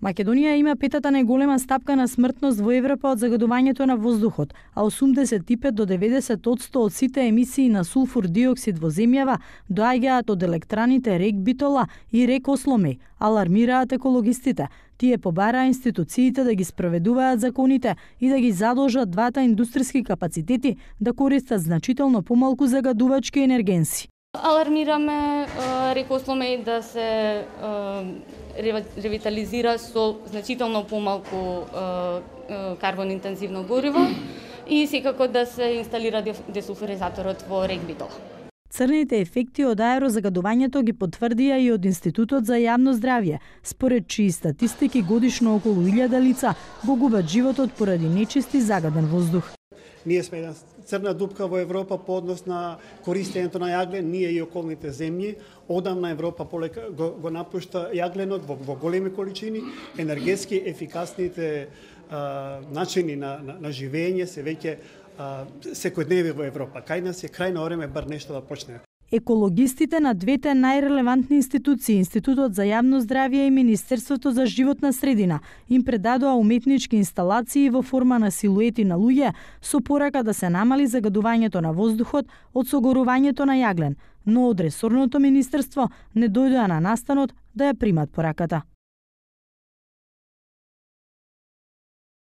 Македонија има петата најголема стапка на смртност во Европа од загадувањето на воздухот, а 85 до 90% од сите емисии на сулфур диоксид во земјава доаѓаат од електраните РЕК Битола и РЕК Осломеј, алармираат екологистите. Тие побараа институциите да ги спроведуваат законите и да ги задолжат двата индустријски капацитети да користат значително помалку загадувачки енергенси. Алармираме РЕК Осломеј да се ревитализира со значително помалку карбон интензивно гориво и секако да се инсталира десулфуризаторот во РЕК Битола. Црните ефекти од аерозагадувањето ги потврдија и од Институтот за јавно здравје, според чии статистики годишно околу 1000 лица го губат животот поради нечист и загаден воздух. Ние сме една црна дупка во Европа по однос на користењето на јаглен, ние и околните земји. Одамна Европа полека го напушта јагленот во големи количини, енергетски ефикасните начини на живење се веќе секојдневни во Европа. Кај нас е крајно време бар нешто да почне. Екологистите на двете најрелевантни институции, Институтот за јавно здравје и Министерството за животна средина, им предадоа уметнички инсталации во форма на силуети на луѓе со порака да се намали загадувањето на воздухот од согорувањето на јаглен, но од ресорното министерство не дојдоа на настанот да ја примат пораката.